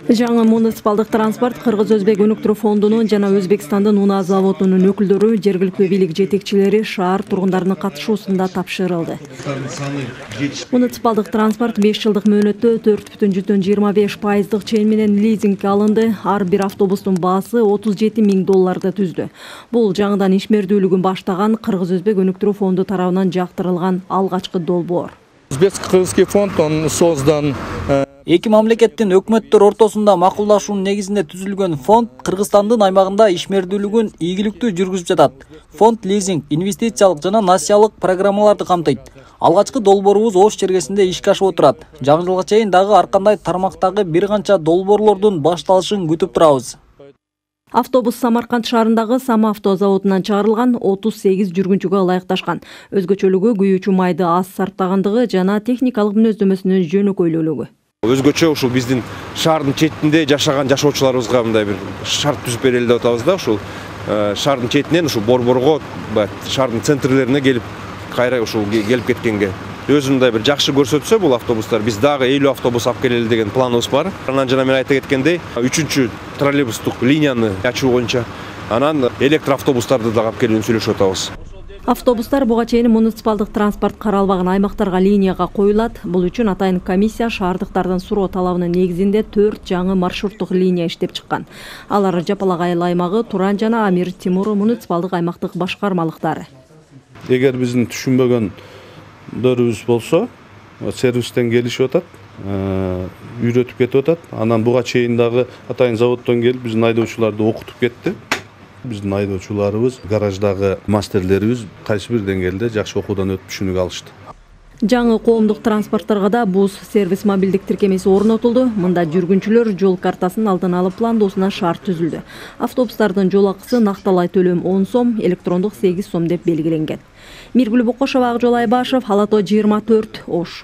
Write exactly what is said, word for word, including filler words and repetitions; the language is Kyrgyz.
Жаңы муниципалдык транспорт Кыргыз-Өзбек өнүктүрүү фондунун жана Өзбекстандын унаа заводунун өкүлдөрү, жергиликтүү бийлик жетекчилери шаар тургундарынын катышуусунда тапшырылды. Муниципалдык транспорт беш жылдык мөөнөттө төрт бүтүн жүздөн жыйырма беш пайыздык чейин менен лизингге алынды. Ар бир автобустун баасы отуз жети миң долларды түздү. Бул жаңыдан ишмердүүлүгүн баштаган Кыргыз-Өзбек өнүктүрүү фонду тарабынан жактырылган алгачкы долбоор. Өзбек-кыргызский фонд он создан Эки мамлекеттин өкмөттөр ортосунда макулдашуунун негизинде түзүлгөн фонд Кыргызстандын аймагында ишмердүүлүгүн ийгиликтүү жүргүзүп жатат. Фонд лизинг, инвестициялык жана насиялык программаларды камтыйт. Алгачкы долбоорубуз Ош чергесинде ишке ашып отурат. Жаңы жылга чейин дагы ар кандай тармактагы бир канча долбоорлордун башталышын күтүп турабыз. Автобус Самарканд шаарындагы Сама автозаводунан чыгарылган отуз сегиз жүргүнчүгө ылайыкташкан. Өзгөчөлүгү күйүүчү майды аз сарптагандыгы жана техникалык мүнөздөмөсүнүн жөнөкөйлүүлүгү. Өзгөчө ушул биздин шаардын четинде жашаган жашоочуларыбызга мындай бир шарт түзүп берели деп атабыз да, ушул шаардын четинен ушул борборго, шаардын центрлерине келип, кайра ушул келип кеткенге өзү мындай бир жакшы көрсөтсө бул автобустар, биз дагы элүү автобус алып келели деген планыбыз бар. Анан жана мен айта кеткендей, үчүнчү троллейбустук линияны ачуу боюнча анан электр автобустарды дагы алып келүүнү сүйлөшүп атабыз. Автобустар буга чейин муниципалдык транспорт каралбаган аймактарга линияга коюлат. Бул үчүн атайын комиссия шаардыктардын суроо талабынын негизинде төрт жаңы маршруттук линия иштеп чыккан. Алар Жапалак айыл аймагы, Туран жана Амир Тимур муниципалдык аймактык башкармалыктары. Эгер биздин түшүнбөгөндөрүбүз болсо, сервистен келишип атат, үйрөтүп кетип атат. Анан буга чейин дагы атайын заводдон келип биздин айдоочуларды окутуп кетти. Биздин айдоочуларыбыз, гараждагы мастерлерибиз кайсы бир деңгээлде жакшы окуудан өтүп түшүнүк алышты. Жаңы коомдук транспорттарга да бус сервис мобилдик тиркемеси орнотулду. Мында жүргүнчүлөр жол картасын алдын алып пландоосуна шарт түзүлдү. Автобустардын жол акысы накталай төлөм он сом, электрондук сегиз сом деп белгиленген. Миргүл Бокошова, Ак Жол Айбашев, Ала тоо жыйырма төрт, Ош.